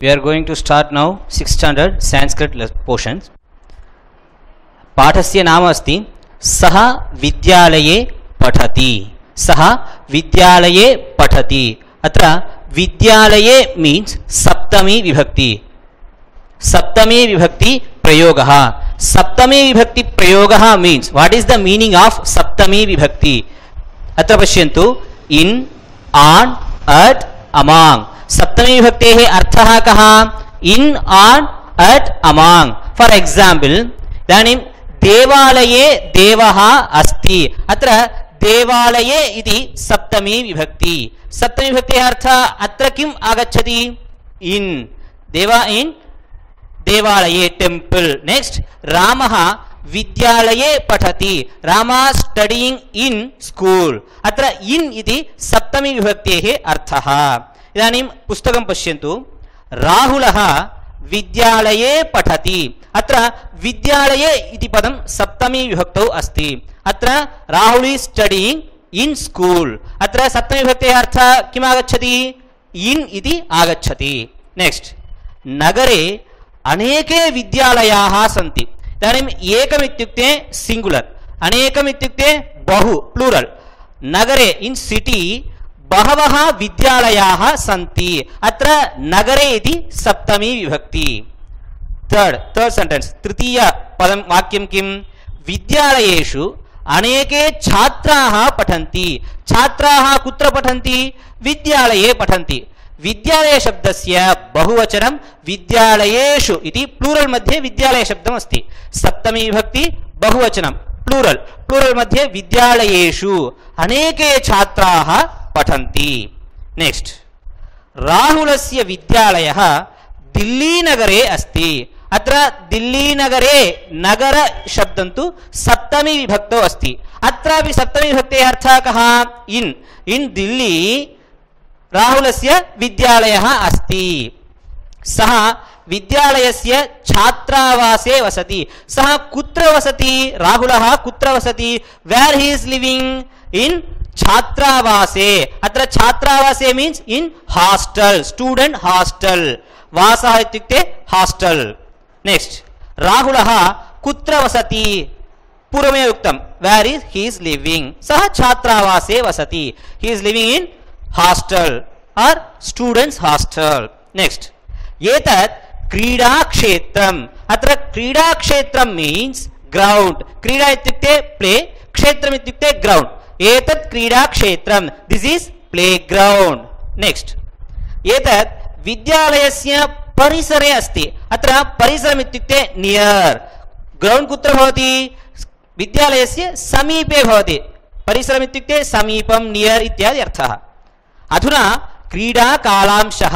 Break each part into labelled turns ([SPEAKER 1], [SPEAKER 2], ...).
[SPEAKER 1] We are going to start now 6th standard Sanskrit portions. पाठस्य नाम अस्ति सः विद्यालये पठति. सः विद्यालये पठति. अत्र विद्यालये means सप्तमी विभक्ति. सप्तमी विभक्ति प्रयोगः. सप्तमी विभक्ति प्रयोगः means what is the meaning of सप्तमी विभक्ति? अत्र पश्यन्तु in, on, at, among. सप्तमी विभक्तेः अर्थः कः? in, on, at, among. For example, इदानीं देवालये देवः अस्ति. अत्र देवालये इति सप्तमी विभक्ति. सप्तमी विभक्तेः अर्थः अत्र किम् आगच्छति? in. in देवालये टेम्पल. नेक्स्ट रामः विद्यालये पठति. रामा स्टडीइंग इन स्कूल. अत्र इन इति सप्तमी विभक्तेः अर्थः. इदानीं पुस्तकं पश्यन्तु. राहुलः विद्यालये पठति. अत्र विद्यालये इति पदं सप्तमी विभक्तौ अस्ति. अत्र Rahul is studying in school. अत्र सप्तमी विभक्तेः अर्थः किम् आगच्छति? इन इति आगच्छति. नेक्स्ट नगरे अनेके विद्यालयाः सन्ति. इदानीम् एकम् इत्युक्ते सिंगुलर, अनेकम् इत्युक्ते बहु प्लूरल. नगरे इन सिटी बहवः विद्यालयाः सन्ति. अत्र नगरे इति सप्तमी विभक्ति. थर्ड सेंटेंस तृतीय पदं वाक्यं किं? विद्यालयेषु अनेके छात्राः पठन्ति. छात्राः कुत्र पठन्ति? विद्यालये पठन्ति. विद्यालय शब्दस्य बहुवचनं विद्यालयेषु इति प्लूरल मध्ये विद्यालय शब्दम् अस्ति. सप्तमी विभक्ति बहुवचनं प्लूरल. प्लूरल मध्ये विद्यालयेषु अनेके छात्राः पठन्ति. नेक्स्ट राहुलस्य विद्यालयः दिल्ली नगरे अस्ति. अत्र दिल्ली नगरे नगर शब्दं तु सप्तमी विभक्तौ अस्ति. अत्रापि सप्तमी विभक्तेः अर्थः कः? in दिल्ली राहुलस्य विद्यालयः अस्ति. सः विद्यालयस्य छात्रावासे वसति. सः कुत्र वसति? राहुलः कुत्र वसति? Where he is living? In छात्रावासे. अत्र छात्रावासे means in hostel, student hostel. वासः इत्युक्ते हॉस्टल. नेक्स्ट राहुलः कुत्र वसति? पूर्वमेव उक्तं where is he is living. सः छात्रावासे वसति. He is living in hostel और स्टूडेंट्स हॉस्टल. नेक्स्ट एतत् क्रीडा क्षेत्रम्. अत्र क्रीडा क्षेत्रं मीन्स ग्राउंड. क्रीडा इत्युक्ते प्ले, क्षेत्रम् इत्युक्ते ग्राउंड. एतत् क्रीडा क्षेत्रम्, this is play ground. Next एतत् विद्यालयस्य परिसरे अस्ति. अत्र परिसरम् इत्युक्ते नियर. ग्राउंड कुत्र भवति? विद्यालयस्य समीपे भवति. परिसरम् इत्युक्ते समीपं, नियर इत्यादि अर्थः. अधुना क्रीडा कालांशः.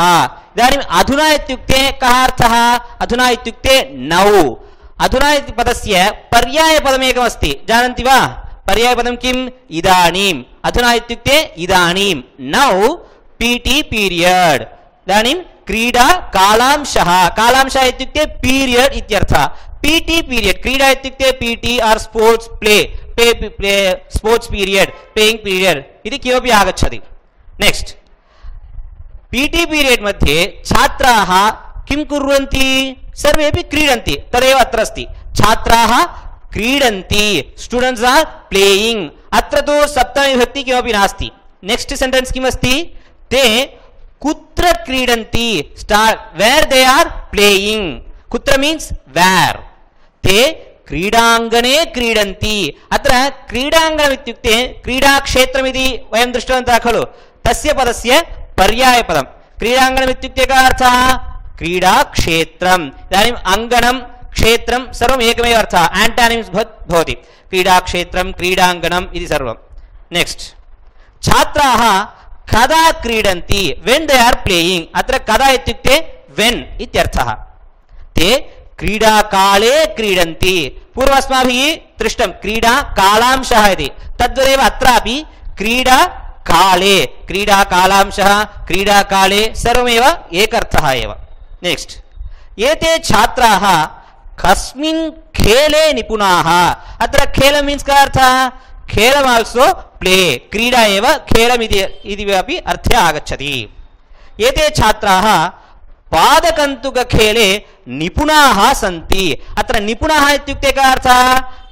[SPEAKER 1] इदानीम् अधुना इत्युक्ते कः अर्थः? अधुना इत्युक्ते नौ. अधुना इति पदस्य पर्यायपदमेकम् अस्ति. जानन्ति वा? पर्यायपदं किम्? इदानीम्. अधुना इत्युक्ते इदानीं. Now PT period. इदानीं क्रीडा कालांशः. कालांशः इत्युक्ते पीरियड इत्यर्थः. PT period. क्रीडा इत्युक्ते PT or sports play. Sports period, playing period इति किमपि आगच्छति. नेक्स्ट पीटी पीरियड मध्ये छात्राः किं कुर्वन्ति? सर्वेपि क्रीडन्ति. तदेव अत्र अस्ति. छात्राः क्रीडन्ति. स्टूडेंट्स आर प्लेइंग. अत्र तु सप्तमी विभक्ति किमपि नास्ति. नेक्स्ट सेंटेंस किम् अस्ति? ते कुत्र क्रीडन्ति? Where they are playing. कुत्र मीन्स वेर. ते क्रीडाङ्गणे क्रीडन्ति. अत्र क्रीडाङ्गणम् इत्युक्ते क्रीडाक्षेत्रमिति वयं दृष्टवन्तः खलु. तस्य पदस्य पर्यायपदं. क्रीडाङ्गणम् इत्युक्ते कः अर्थः? क्रीडाक्षेत्रम्. इदानीम् अङ्गणं क्षेत्रं सर्वम् एकमेव अर्थः. एंटानिम्स् भवति. क्रीडाक्षेत्रं, क्रीडाङ्गणम् इति सर्वं. नेक्स्ट छात्राः कदा क्रीडन्ति? When they are playing. अत्र कदा इत्युक्ते वेन् इत्यर्थः. ते क्रीडाकाले क्रीडन्ति. पूर्वम् अस्माभिः दृष्टं क्रीडा कालांशः इति. तद्वदेव अत्रापि क्रीडा काले, क्रीडा कालांशः, क्रीडा काले सर्वमेव एकर्थः एव. नेक्स्ट एते छात्राः कस्मिन् खेले निपुणाः. अत्र खेल मीन्स का अर्थः? खेलम् आल्सो प्ले. क्रीडा एव खेलम् इति अपि अर्थे आगच्छति. एते छात्राः पादकन्दुकखेले निपुणाः सन्ति अत्र निपुणाः इत्युक्ते का अर्थः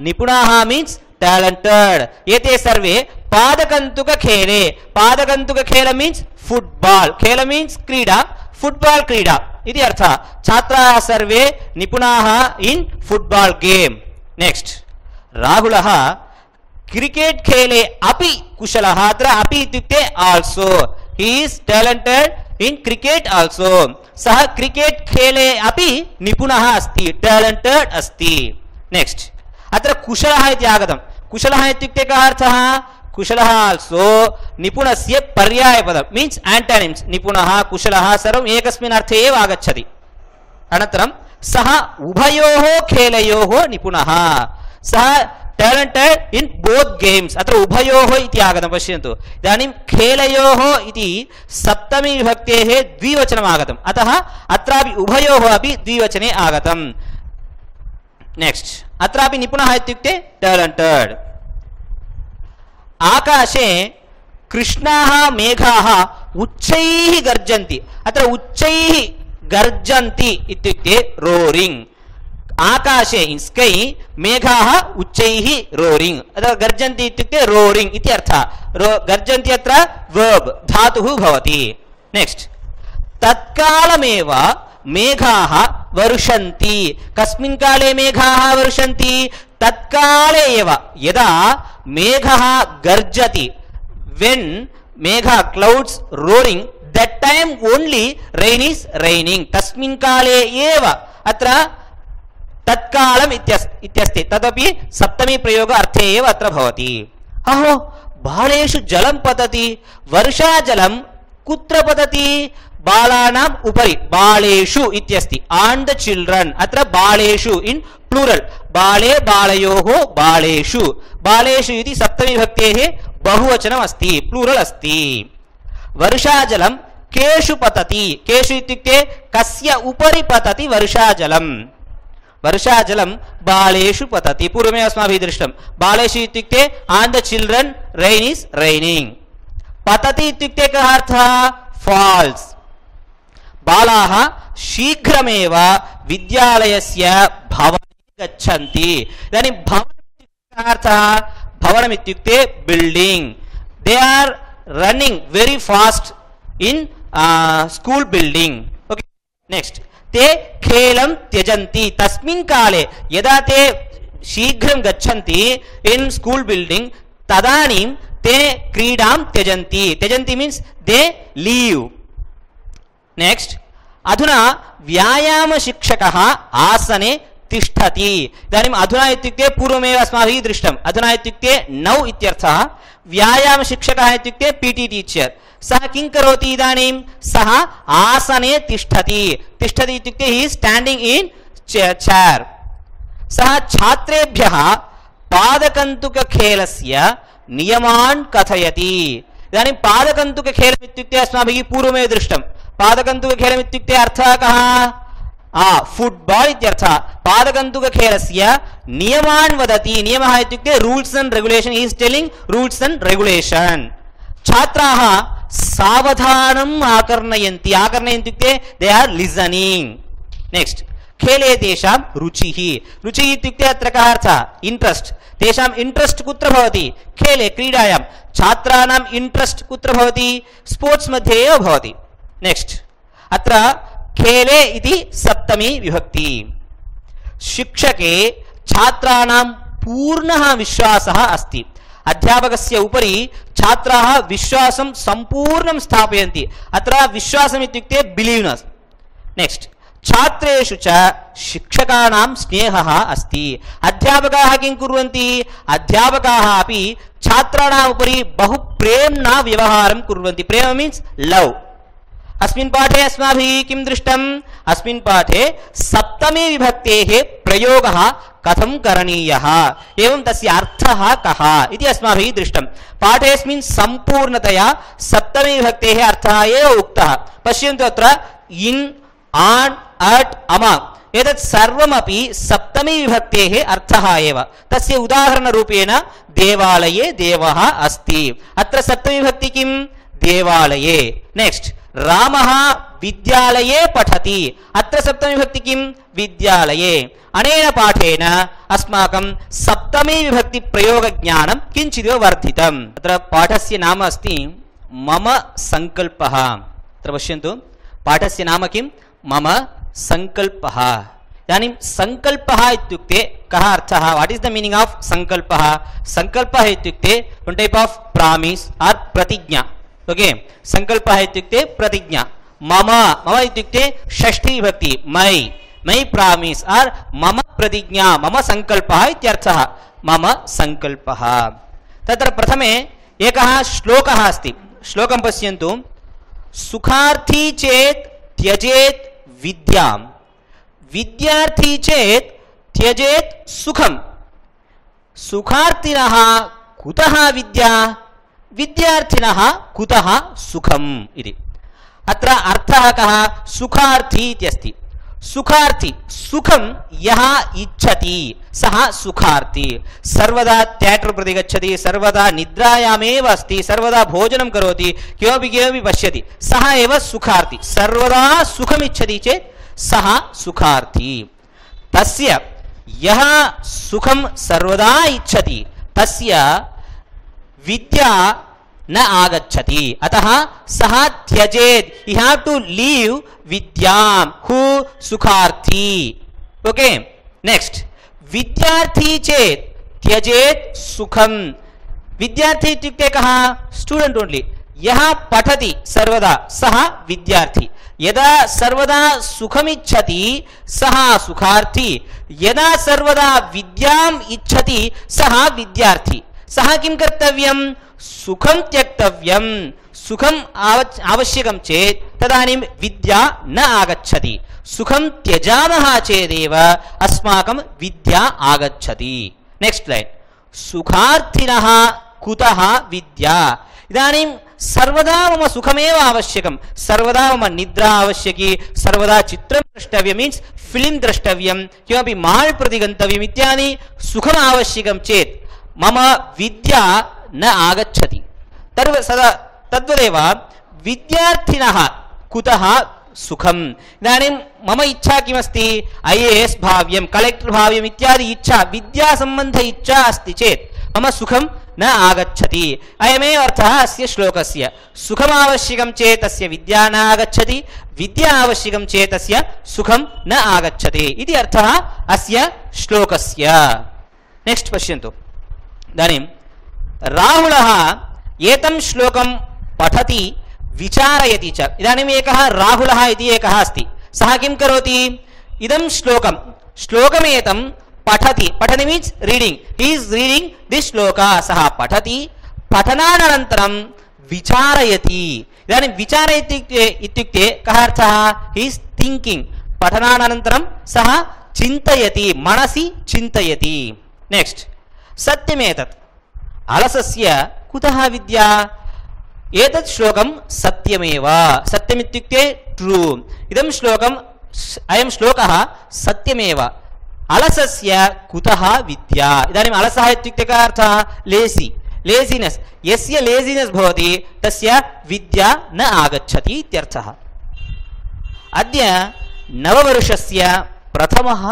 [SPEAKER 1] निपुणाः मीन्स talented एते सर्वे पादकन्दुकखेले पादकन्दुकखेल मीन्स फुटबॉल खेल मीन्स क्रीडा फुटबॉल क्रीडा इति अर्थः छात्राः सर्वे निपुणाः इन फुटबॉल गेम नेक्स्ट राहुलः क्रिकेट खेले अपि कुशलः अत्र अपि इत्युक्ते also he is talented in cricket also सः क्रिकेट खेले अपि निपुणः अस्ति टैलेंटेड अस्ति नेक्स्ट अत्र कुशलः इति आगतं कुशलः इत्युक्ते कः अर्थः कुशलः आल्सो निपुणस्य पर्यायपदं मीन्स एंटोनिम्स निपुणः कुशलः सर्वम् एकस्मिन् अर्थे एव आगच्छति अनन्तरं सः उभयोः खेलयोः निपुणः सः टैलेंटेड इन बोथ गेम्स अत्र उभयोः इति आगतं पश्यन्तु इदानीं खेलयोः इति सप्तमी विभक्तेः द्विवचनम् आगतम् अतः अत्रापि उभयोः अपि द्विवचने आगतम् नेक्स्ट अत्रापि निपुणः इत्युक्ते टैलेंटेड आकाशे कृष्णाः मेघाः उच्चैः गर्जन्ति अत्र उच्चैः गर्जन्ति इत्युक्ते रोरिंग आकाशे इन स्कै मेघाः उच्चैः रोरिंग अत्र गर्जन्ति इत्युक्ते रोरिंग इति अर्थः गर्जन्ति अत्र वर्ब धातुः भवति नेक्स्ट तत्कालमेव मेघाः वर्षन्ति कस्मिन् काले मेघाः वर्षन्ति तत्काले एव यदा मेघः गर्जति when Megha clouds roaring that time only rain is raining तस्मिन् काले एव अत्र तत्कालम् इत्यस्ति तदपि सप्तमी प्रयोग अर्थे एव अत्र भवति अहो बालेषु जलं पतति वर्षाजलं कुत्र पतति बालानाम् उपरि बालेषु इत्यस्ति on the children अत्र बालेषु इन प्लूरल बाले बालयोः बालेषु बालेषु इति सप्तमी विभक्तेः बहुवचनम् अस्ति प्लूरल अस्ति वर्षाजलं केषु पतति केषु इत्युक्ते कस्य उपरि पतति वर्षाजलं वर्षाजलं बालेषु पतति पूर्वमेव अस्माभिः दृष्टं बालेषु इत्युक्ते on the children rain is raining पतति इत्युक्ते कः अर्थः falls बालाः शीघ्रमेव विद्यालयस्य भवने गच्छन्ति इदानीं भवनम् अर्थः भवनम् इत्युक्ते building they are running very fast in school building okay next ते खेलं त्यजन्ति तस्मिन् काले यदा ते शीघ्रं गच्छन्ति इन स्कूल बिल्डिंग तदानीं ते क्रीडां त्यजन्ति त्यजन्ति मीन्स दे लीव नेक्स्ट अधुना व्यायाम शिक्षकः आसने तिष्ठति इदानीम् अधुना इत्युक्ते पूर्वमेव अस्माभिः दृष्टम् अधुना इत्युक्ते नौ इत्यर्थः व्यायाम शिक्षकः इत्युक्ते पीटी टीचर सः किं करोति इदानीं सः आसने तिष्ठति तिष्ठति इत्युक्ते he is standing in chair सः छात्रेभ्यः पादकन्दुकखेलस्य नियमान् कथयति इदानीं पादकन्दुकखेलम् इत्युक्ते अस्माभिः पूर्वमेव दृष्टम् पादकन्दुकखेलम् इत्युक्ते अर्थः कः फुटबॉल इत्यर्थः पादकन्दुकखेलस्य नियमान् वदति नियमः इत्युक्ते rules and regulation he is telling rules and regulation छात्राः सावधानम् आकर्णयन्ति आकर्णयन्ति इत्युक्ते दे आर लिसनिंग नेक्स्ट खेले तेषां रुचिः रुचिः इत्युक्ते अत्र कः अर्थः इंट्रेस्ट तेषाम् इंट्रेस्ट कुत्र भवति खेले क्रीडायां छात्राणाम् इंट्रेस्ट कुत्र भवति स्पोर्ट्स मध्ये एव भवति नेक्स्ट अत्र खेले इति सप्तमी विभक्ति शिक्षके छात्राणां पूर्णः विश्वासः अस्ति अध्यापकस्य उपरि छात्राः विश्वासं संपूर्णं स्थापयन्ति अत्र विश्वासम् इत्युक्ते बिलीव्नेस् नेक्स्ट छात्रेषु च शिक्षकाणां स्नेहः अस्ति अध्यापकाः किं कुर्वन्ति अध्यापकाः अपि छात्राणाम् उपरि बहु प्रेम्णा व्यवहारं कुर्वन्ति प्रेम मीन्स लव अस्मिन् पाठे अस्माभिः किं दृष्टम् अस्मिन् पाठे सप्तमी विभक्तेः प्रयोगः कथं करणीयः एवं तस्य अर्थः कः इति अस्माभिः दृष्टम् पाठेऽस्मिन् सम्पूर्णतया सप्तमी विभक्तेः अर्थः एव उक्तः पश्यन्तु अत्र इन आन् अट् अमङ् एतत् सर्वमपि सप्तमी विभक्तेः अर्थः एव तस्य उदाहरणरूपेण देवालये देवः अस्ति अत्र सप्तमी विभक्ति किं देवालये नेक्स्ट रामः विद्यालये पठति अत्र सप्तमी विभक्ति किं विद्यालये अनेन पाठेन अस्माकं सप्तमी विभक्ति प्रयोग ज्ञानं किञ्चिदिव वर्धितम् अत्र पाठस्य नाम अस्ति मम संकल्पः अत्र पश्यन्तु पाठस्य नाम किं मम संकल्पः इदानीं संकल्पः इत्युक्ते कः अर्थः what is the meaning of संकल्पः संकल्पः इत्युक्ते वन टाइप ऑफ प्रॉमिस और प्रतिज्ञा ओके संकल्पः इत्युक्ते प्रतिज्ञा मम मम इत्युक्ते षष्ठी विभक्ति मै प्रॉमिस और मम प्रतिज्ञा मम संकल्पः इत्यर्थः मम संकल्पः तत्र प्रथमे एकः श्लोकः अस्ति श्लोकं पश्यन्तु सुखार्थी चेत् त्यजेत् विद्यां विद्यार्थी चेत् त्यजेत् सुखं सुखार्थिनः कुतः विद्या विद्यार्थिनः कुतः सुखम् इति अत्र अर्थः कः सुखार्थी इत्यस्ति सुखार्थी सुखं यः इच्छति सः सुखार्थी सर्वदा थियेटर् प्रति गच्छति सर्वदा निद्रायामेव अस्ति सर्वदा भोजनं करोति किमपि किमपि पश्यति सः एव सुखार्थी सर्वदा सुखम् इच्छति चेत् सः सुखार्थी तस्य यः सुखं सर्वदा इच्छति तस्य विद्या न आगच्छति अतः सः त्यजेत् he have to leave विद्यां who सुखार्थी ओके नेक्स्ट विद्यार्थी चेत् त्यजेत् सुखं विद्यार्थी इत्युक्ते कः स्टूडेंट ओनली यः पठति सर्वदा सः विद्यार्थी यदा सर्वदा सुखमिच्छति सः सुखार्थी यदा सर्वदा विद्याम् इच्छति सः विद्यार्थी सः किं कर्तव्यं सुखं त्यक्तव्यं सुखम् आवश्यकं चेत् तदानीं विद्या न आगच्छति सुखं त्यजामः चेदेव अस्माकं विद्या आगच्छति नेक्स्ट लाइन सुखार्थिनः कुतः विद्या इदानीं सर्वदा मम सुखमेव आवश्यकं सर्वदा मम निद्रा आवश्यकी सर्वदा चित्रं द्रष्टव्यं मीन्स् फिल्म द्रष्टव्यं किमपि माल् प्रति गन्तव्यम् इत्यादि सुखम् आवश्यकं चेत् मम विद्या न आगच्छति सदा तद्वदेव विद्यार्थिनः कुतः सुखम् इदानीं मम इच्छा किमस्ति IAS भाव्यं कलेक्टर् भाव्यम् इत्यादि इच्छा विद्यासम्बन्ध इच्छा अस्ति चेत् मम सुखं न आगच्छति अयमेव अर्थः अस्य श्लोकस्य सुखम् आवश्यकं चेत् तस्य विद्या न आगच्छति विद्या आवश्यकं चेत् तस्य सुखं न आगच्छति इति अर्थः अस्य श्लोकस्य नेक्स्ट पश्यन्तु इदानीं राहुलः एतं श्लोकं पठति विचारयति च इदानीम् एकः राहुलः इति एकः अस्ति सः किं करोति इदं श्लोकमेतं पठति पठति means reading he is reading this shloka सः पठति पठनानन्तरं विचारयति इदानीं विचारयति इत्युक्ते कः अर्थः ही इज थिंकिंग पठनानन्तरं सः चिन्तयति मनसि चिन्तयति नेक्स्ट सत्यमेतत् अलसस्य कुतः विद्या एतत् श्लोकं सत्यमेव सत्यमित्युक्ते ट्रू इदं श्लोकम् अयं श्लोकः सत्यमेव अलसस्य कुतः विद्या इदानीम् अलसः इत्युक्ते कः अर्थः लेज़ी लेज़िनेस् यस्य लेज़िनेस् भवति तस्य विद्या न आगच्छति इत्यर्थः अद्य नववर्षस्य प्रथमः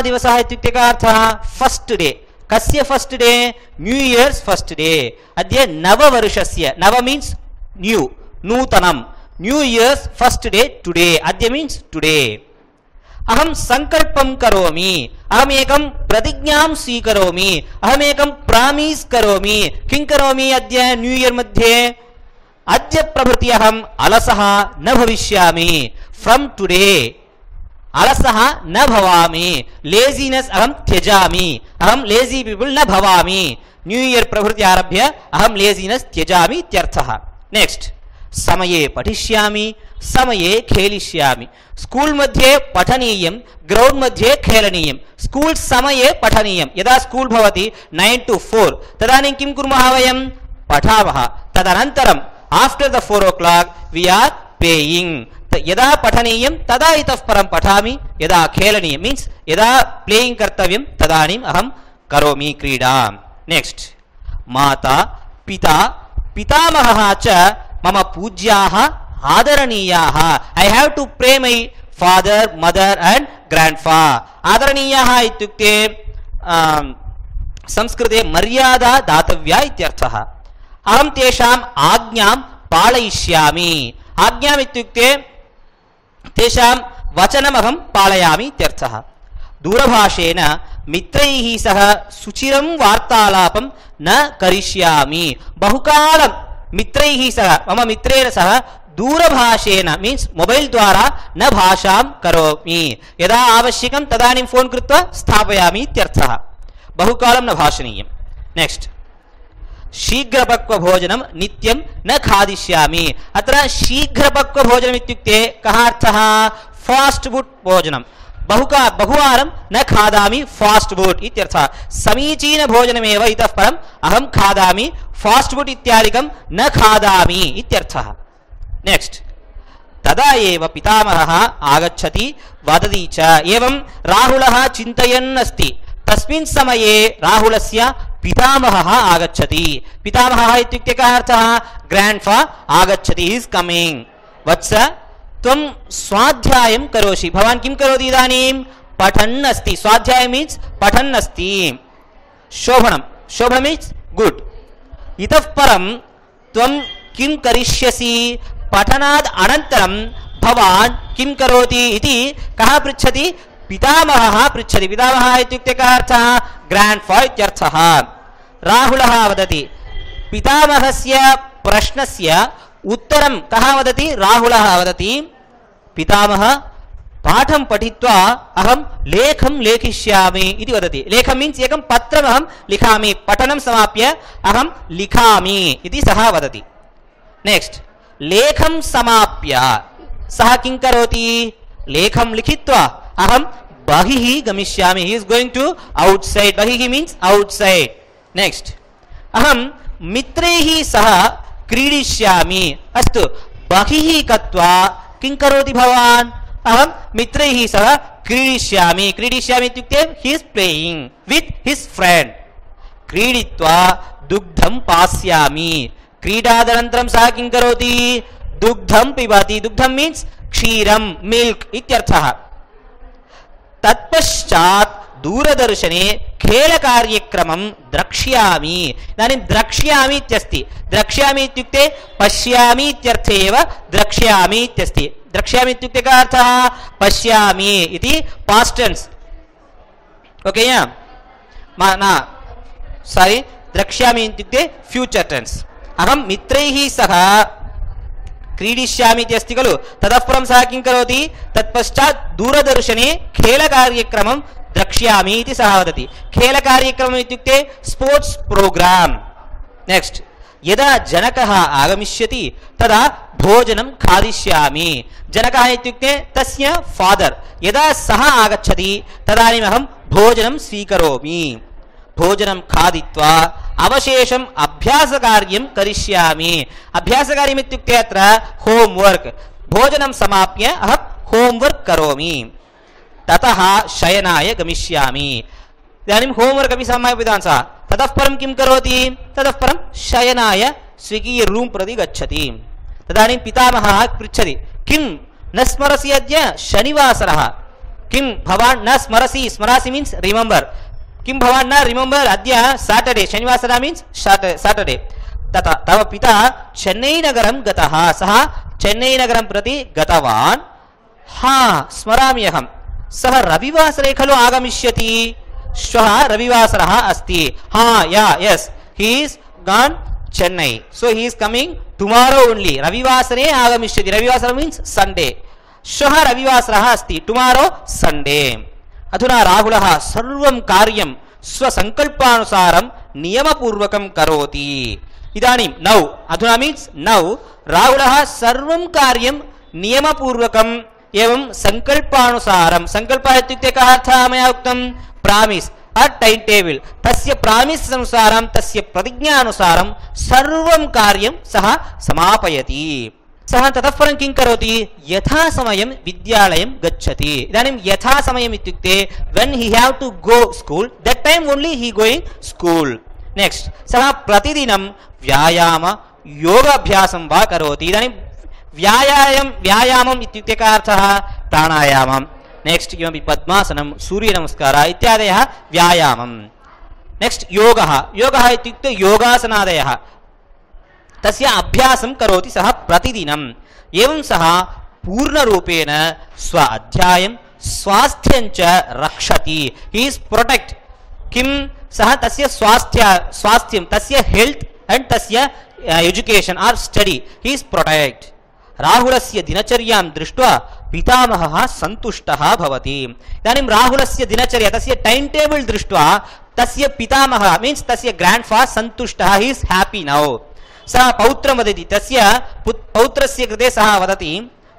[SPEAKER 1] दिवसः इत्युक्ते कः अर्थः फस्ट् डे कस्य first day new years first day अद्य नववर्षस्य नव मीन्स् न्यू नूतनं new years first day today अद्य मीन्स् टुडे अहं संकल्पं करोमि अहमेकं प्रतिज्ञां स्वीकरोमि अहमेकं प्रामिस् करोमि किं करोमि अद्य न्यू इयर् मध्ये अद्य प्रभृति अहम् अलसः न भविष्यामि फ्रॉम टुडे अलसः न भवामि लेज़िनेस् अहं त्यजामि अहं लेज़ी पीपल् न भवामि न्यू इयर् प्रभृति आरभ्य अहं लेज़िनेस् त्यजामि इत्यर्थः नेक्स्ट समये पठिष्यामि समये खेलिष्यामि स्कूल मध्ये पठनीयं ग्राउंड मध्ये खेलनीयं स्कूल समये पठनीयं यदा स्कूल भवति 9 to 4 तदानीं किं कुर्मः वयं पठामः तदनन्तरम् after the 4 o'clock we are playing यदा पठनीयं तदा इतः परं पठामि यदा खेलनीयं मीन्स् यदा प्लेयिंग कर्तव्यं तदानीम् अहं करोमि क्रीडां नेक्स्ट माता पिता पितामहः च मम पूज्याः आदरणीयाः. I have to pray my father, mother and grandfather. आदरणीयाः इत्युक्ते संस्कृते मर्यादा दातव्या इत्यर्थः. अहं तेषाम् आज्ञां पालयिष्यामि. आज्ञाम् इत्युक्ते तेषां वचनमहं पालयामि इत्यर्थः. दूरभाषेण मित्रैः सह सुचिरं वार्तालापं न करिष्यामि. बहुकालं मित्रैः सह मम मित्रेण सह दूरभाषेण मीन्स् मोबैल् द्वारा न भाषां करोमि. यदा आवश्यकं तदानीं फोन् कृत्वा स्थापयामि इत्यर्थः. बहुकालं न भाषणीयं. नेक्स्ट्, शीघ्रपक्वभोजनं नित्यं न खादिष्यामि. अत्र शीघ्रपक्वभोजनम् इत्युक्ते कः अर्थः? फास्ट् फुड् भोजनं. बहुवारं न खादामि फास्ट् फुड् इत्यर्थः. समीचीनभोजनमेव इतः परम् अहं खादामि, फास्ट् फुड् इत्यादिकं न खादामि इत्यर्थः. नेक्स्ट्, तदा एव पितामहः आगच्छति वदति च. एवं राहुलः चिन्तयन् अस्ति. तस्मिन् समये राहुलस्य पितामहः आगच्छति. पितामहः इत्युक्ते कः अर्थः? ग्राण्ड्फा आगच्छति, इस् कमिङ्ग्. वत्स, त्वं स्वाध्यायं करोषि. भवान् किं करोति इदानीं? पठन् अस्ति. स्वाध्याय मीन्स् पठन् अस्ति. शोभनं, शोभनं मीन्स् गुड्. इतः परं त्वं किं करिष्यसि? पठनाद् अनन्तरं भवान् किं करोति इति कः पृच्छति? पितामहः पृच्छति. पितामहः इत्युक्ते कः अर्थः? ग्राण्ड्फा इत्यर्थः. राहुलः वदति. पितामहस्य प्रश्नस्य उत्तरं कः वदति? राहुलः वदति, पितामह, पाठं पठित्वा अहं लेखं लेखिष्यामि इति वदति. लेखं मीन्स् एकं पत्रम् अहं लिखामि. पठनं समाप्य अहं लिखामि इति सः वदति. नेक्स्ट्, लेखं समाप्य सः किं करोति? लेखं लिखित्वा अहं बहिः गमिष्यामि. He is going to outside. बहिः मीन्स् औट्सैड्. नेक्स्ट्, अहं मित्रैः सह क्रीडिष्यामि. अस्तु, बहिः गत्वा किं करोति भवान्? अहं मित्रैः सह क्रीडिष्यामि. क्रीडिष्यामि इत्युक्ते he is playing with his friend. क्रीडित्वा दुग्धं पास्यामि. क्रीडादनन्तरं सः किं करोति? दुग्धं पिबति. दुग्धं मीन्स् क्षीरं, मिल्क् इत्यर्थः. तत्पश्चात् दूरदर्शने खेलकार्यक्रमं द्रक्ष्यामि. इदानीं द्रक्ष्यामि इत्यस्ति. द्रक्ष्यामि इत्युक्ते पश्यामि इत्यर्थे एव द्रक्ष्यामि इत्यस्ति. द्रक्ष्यामि इत्युक्ते कः अर्थः? पश्यामि इति पास्ट् टेन्स्. ओके या न सारी, द्रक्ष्यामि इत्युक्ते फ्यूचर् टेन्स्. अहं मित्रैः सह क्रीडिष्यामि इति अस्ति खलु. ततः परं सः किं करोति? तत्पश्चात् दूरदर्शने खेलकार्यक्रमं द्रक्ष्यामि इति सः वदति. खेलकार्यक्रमम् इत्युक्ते स्पोर्ट्स् प्रोग्राम्. नेक्स्ट्, यदा जनकः आगमिष्यति तदा भोजनं खादिष्यामि. जनकः इत्युक्ते तस्य फादर्. यदा सः आगच्छति तदानीम् अहं भोजनं स्वीकरोमि. भोजनं खादित्वा अवशेषम् अभ्यासकार्यं करिष्यामि. अभ्यासकार्यम् इत्युक्ते अत्र होम्वर्क्. भोजनं समाप्य अहं होम्वर्क् करोमि. ततः शयनाय गमिष्यामि. इदानीं होम्वर्क् अपि समापितवान् सः. ततः परं किं करोति? ततः परं शयनाय स्वीकीय रूम् प्रति गच्छति. तदानीं पितामहः पृच्छति, किं न स्मरसि? अद्य शनिवासरः. किं भवान् न स्मरसि? स्मरासि मीन्स् रिमेम्बर्. किं भवान् न रिमेम्बर्? अद्य साटर्डे. शनिवासरः means Saturday. तथा तव पिता चेन्नैनगरं गतः. सः चेन्नैनगरं प्रति गतवान्. हा, स्मरामि अहं. सः रविवासरे खलु आगमिष्यति. श्वः रविवासरः अस्ति. हा, yeah, yes, he is gone Chennai. So he is coming tomorrow only. रविवासरे आगमिष्यति. रविवासरः मीन्स् सण्डे. श्वः रविवासरः अस्ति. Tomorrow Sunday. अधुना राहुलः सर्वं कार्यं स्वसङ्कल्पानुसारं नियमपूर्वकं करोति. इदानीं नौ, अधुना मीन्स् नौ, राहुलः सर्वं कार्यं नियमपूर्वकम् एवं सङ्कल्पानुसारं. सङ्कल्पः इत्युक्ते कः अर्थः? मया उक्तं प्रामिस् अ टैम् टेबल्. तस्य प्रामिस् अनुसारं, तस्य प्रतिज्ञानुसारं सर्वं कार्यं सः समापयति. सः ततः परं किं करोति? यथा समयं विद्यालयं गच्छति. इदानीं यथा समयम् इत्युक्ते when he have to go school, that time only he going school. Next, सः प्रतिदिनं व्यायाम योगाभ्यासं वा करोति इदानीं व्यायामम् इत्युक्ते कः अर्थः प्राणायामं नेक्स्ट किमपि पद्मासनं सूर्यनमस्कारः इत्यादयः व्यायामं नेक्स्ट योगः इत्युक्ते योगासनादयः तस्य अभ्यासं करोति सः प्रतिदिनम् एवं सः पूर्णरूपेण स्व अध्यायं स्वास्थ्यं च रक्षति ही इज प्रोटेक्ट किं सः तस्य स्वास्थ्यं तस्य हेल्थ एंड तस्य education or study he is protect राहुलस्य दिनचर्यां दृष्ट्वा पितामहः सन्तुष्टः भवति इदानीं राहुलस्य दिनचर्या तस्य टाइम टेबल दृष्ट्वा तस्य पितामहः मीन्स तस्य ग्रांडफादर सन्तुष्टः ही इज हैप्पी नाउ सः पौत्रं वदति तस्य पौत्रस्य कृते सः वदति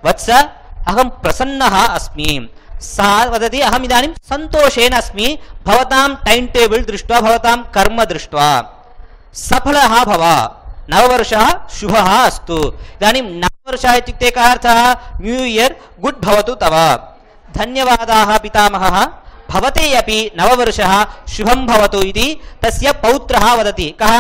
[SPEAKER 1] वत्स अहं प्रसन्नः अस्मि सः वदति अहम् इदानीं सन्तोषेण अस्मि भवतां टाइम टेबल दृष्ट्वा भवतां कर्म दृष्ट्वा सफलः भव नववर्षः शुभः अस्तु इदानीं नववर्षः इत्युक्ते कः अर्थः न्यू इयर् गुड् भवतु तव धन्यवादाः पितामहः भवते अपि नववर्षः शुभं भवतु इति तस्य पौत्रः वदति कः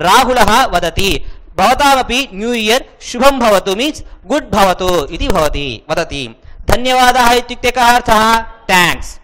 [SPEAKER 1] राहुलः वदति भवतामपि न्यू इयर् शुभं भवतु मीन्स् गुड् भवतु इति भवति वदति धन्यवादाः इत्युक्ते कः अर्थः थैंक्स